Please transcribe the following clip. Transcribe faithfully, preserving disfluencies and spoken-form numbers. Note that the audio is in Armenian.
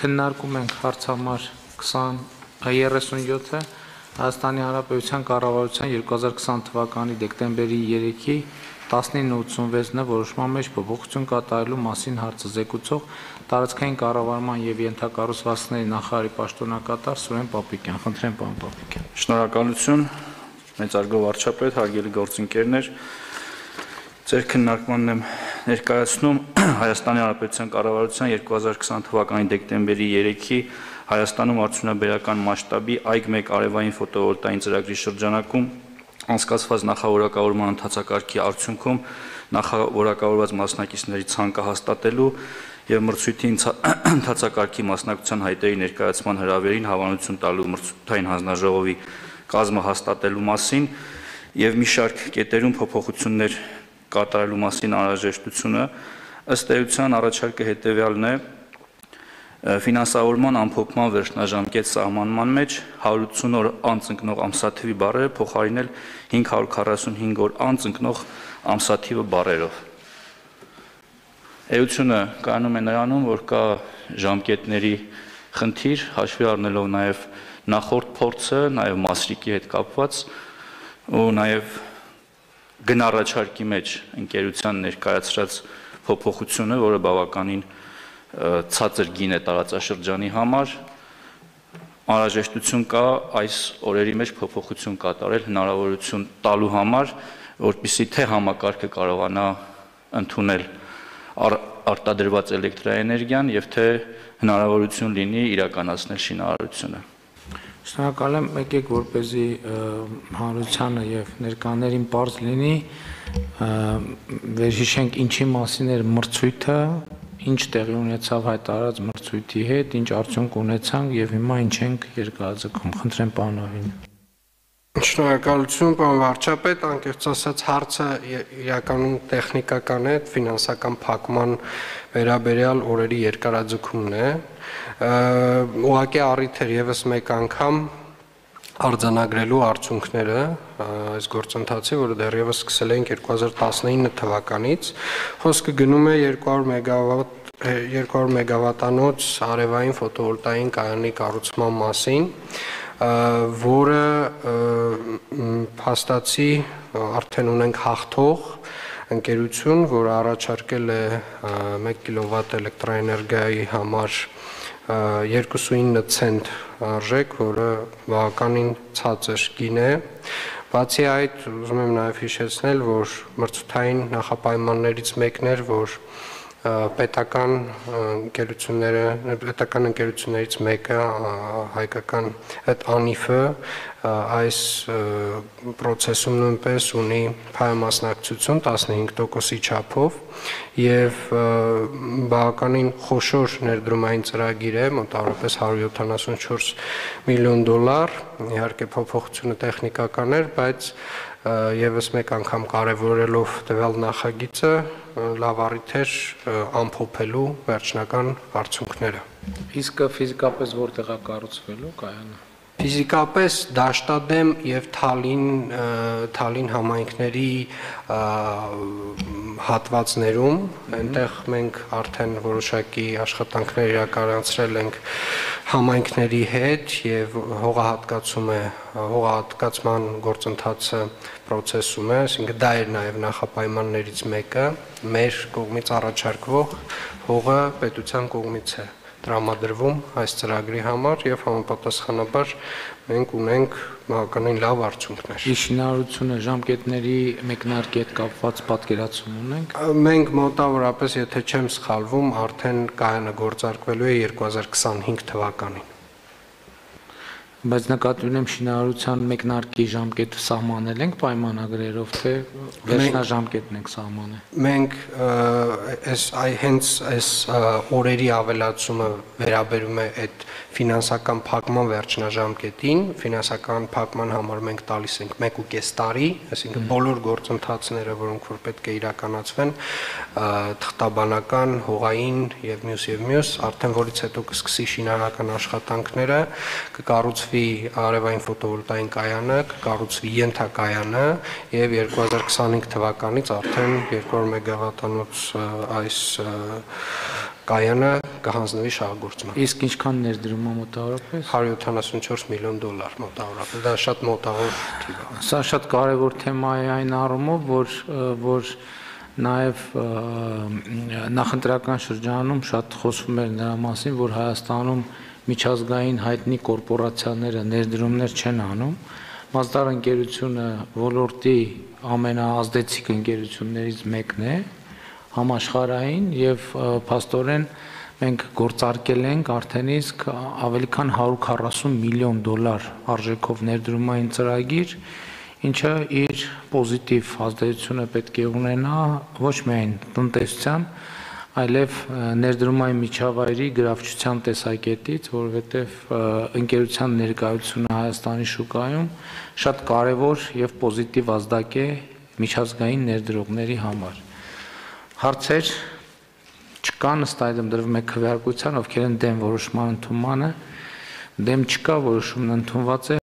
քննարկում ենք հարց համար երեսունյոթը Հայաստանի Հանրապետության կառավարության երկու հազար քսան թվականի դեկտեմբերի երեքի տասնինը ութսունվեցն որոշման մեջ փոփոխություն կատարելու մասին հարցը զեկուցող տարածքային կառավարման եւ ենթակառուցվածքների նախարարի պաշտոնակատար Սուրեն Պապիկյան։ Խնդրեմ, պարոն Պապիկյան։ Շնորհակալություն, մեծարգո վարչապետ, հարգելի գործընկերներ։ Ձեր քննարկմանն եմ ներկայացնում Հայաստանի Հանրապետության կառավարության երկու հազար քսան թվականի դեկտեմբերի երեքի Հայաստանում արդյունաբերական մասշտաբի այգ մեկ արևային ֆոտովոլտային ծրագրի շրջանակում անցկացված նախավորակավորման ընթացակարգի արդյունքում նախավորակավորված մասնակիցների ցանկը հաստատելու եւ մրցույթի ընթացակարգի մասնակցության հայտերի ներկայացման հրավերին հավանություն տալու մրցութային հանձնաժողովի կազմը հաստատելու մասին եւ մի շարք կետերում փոփոխություններ կատարելու մասին անհրաժեշտությունը ըստ էության առաջարկը հետեւյալն է ֆինանսավորման ամփոփման վերջնաժամկետ սահմանման մեջ հարյուր ութսուն օր անց ընկնող ամսաթիվի բառերը փոխարինել հինգ հարյուր քառասունհինգ օր անց ընկնող ամսաթիվը բառերով։ Էությունը կայանում է նրանում, որ կա ժամկետների խնդիր, հաշվի առնելով նաև նախորդ փորձը, նաև մասրիկի հետ կապված ու նաև գնառաջարկի մեջ ընկերության ներկայացրած փոփոխությունը, որը բավականին ցածր գին է տարածաշրջանի համար, անհրաժեշտություն կա այս օրերի մեջ փոփոխություն կատարել հնարավորություն տալու համար, որպեսզի թե համակարգը կարողանա ընդունել արտադրված էլեկտրաէներգիան եւ թե հնարավորություն լինի իրականացնել շինարարությունը։ Շնորհակալ եմ, եկեք որպեսզի հանրությանը եւ ներկաներին բարձ լինի, վերհիշենք ինչի մասին էր մրցույթը, ինչ տեղի ունեցավ հայտարարած մրցույթի հետ, ինչ արդյունք ունեցանք եւ հիմա ինչ ենք երկարաձգում։ Խնդրեմ, պարոն Ավին։ Շնորհակալություն, պարոն վարչապետ, անկեղծ ասած հարցը իրականում տեխնիկական է, ֆինանսական փակման վերաբերյալ օրերի երկարաձգումն է։ Ուղղակի առիթ էր եւս մեկ անգամ արձանագրելու արդյունքները այս գործընթացի, որը դեռևս սկսել ենք երկու հազար տասնինը թվականից, խոսքը գնում է երկու հարյուր մեգավատ երկու հարյուր մեգավատանոց արևային ֆոտովոլտային կայանի կառուցման մասին, որը փաստացի արդեն ունենք հաղթող ընկերություն, որը առաջարկել է մեկ կիլովատ էլեկտրաէներգիայի համար երկուսունինը ցենտ արժեք, որը բավականին ցածր գին է։ Բացի այդ, ուզում եմ նաև հիշեցնել, որ մրցութային նախապայմաններից մեկն էր, որ պետական ընկերությունները, պետական ընկերություններից մեկը հայկական այդ անիֆը այս process-ում նույնպես ունի փայամասնակցություն տասնհինգ տոկոսի չափով եւ բավականին խոշոր ներդրումային ծրագիր է, մոտավորապես հարյուր յոթանասունչորս միլիոն դոլար, իհարկե փոփոխությունը տեխնիկական էր, բայց եւս մեկ անգամ կարևորելով տվյալ նախագիծը լավ առիթ էր ամփոփելու վերջնական արդյունքները։ Իսկ ֆիզիկապես որտեղ է կառուցվելու կայանը։ Ֆիզիկապես Դաշտադեմ եւ Թալին Թալին համայնքների հատվածներում, այնտեղ մենք արդեն որոշակի աշխատանքներ իրականացրել ենք համայնքների հետ եւ հողահատկացում է հողահատկացման գործընթացը process-ում է, այսինքն դա էր նաեւ նախապայմաններից մեկը, մեր կողմից առաջարկվող հողը պետության կողմից է տրամադրվում այս ծրագրի համար եւ համապատասխանաբար մենք ունենք բավականին լավ արդյունքներ։ Շինարարությունը ժամկետների մեկնարկի հետ կապված պատկերացում ունենք։ Մենք մոտավորապես, եթե չեմ սխալվում, արդեն կայանը գործարկվելու է երկու հազար քսանհինգ թվականին։ Բայց նկատի ունեմ շինարարության մեկնարկի ժամկետը սահմանել ենք պայմանագրերով, թե վերջնաժամկետն ենք սահմանել։ Մենք այս հենց այս օրերի ավելացումը վերաբերում է այդ ֆինանսական փակման վերջնաժամկետին, ֆինանսական փակման համար մենք տալիս ենք մեկ ու կես տարի, այսինքն բոլոր գործընթացները, որոնք որ պետք է իրականացվեն, թղթաբանական, հողային եւ մյուս եւ մյուս, արդեն որից հետո կսկսի շինարարական աշխատանքները, կկառուցվի արևային ֆոտովոլտային կայանը, կկառուցվի ենթակայանը եւ երկու հազար քսանհինգ թվականից արդեն երկու հարյուր մեգավատանոց այս կայանը կհանձնվի շահագործման։ Իսկ ինչքան ներդրում է մոտավորապես։ հարյուր յոթանասունչորս միլիոն դոլար մոտավորապես, դա շատ մոտավոր թիվ է։ Սա շատ կարևոր թեմա է այն առումով, որ որ նաև նախընտրական շրջանում շատ խոսվում էր նրա մասին, որ Հայաստանում միջազգային հայտնի կորպորացիաները ներդրումներ չեն անում։ Mazda ընկերությունը ոլորտի ամենաազդեցիկ ընկերություններից մեկն է համաշխարհային եւ փաստորեն մենք գործարկել ենք արդեն իսկ ավելի քան հարյուր քառասուն միլիոն դոլար արժեքով ներդրումային ծրագիր, ինչը իր պոզիտիվ ազդեցությունը պետք է ունենա ոչ միայն տնտեսության, այլև ներդրումային միջավայրի գրավչության տեսակետից, որովհետև ընկերության ներկայությունը Հայաստանի շուկայում շատ կարևոր եւ պոզիտիվ ազդակ է միջազգային ներդրողների համար։ Հարցեր չկան, ըստ այդմ դրվում է քվեարկության, ովքեր են դեմ որոշման ընդունմանը, դեմ չկա, որոշումն ընդունված է։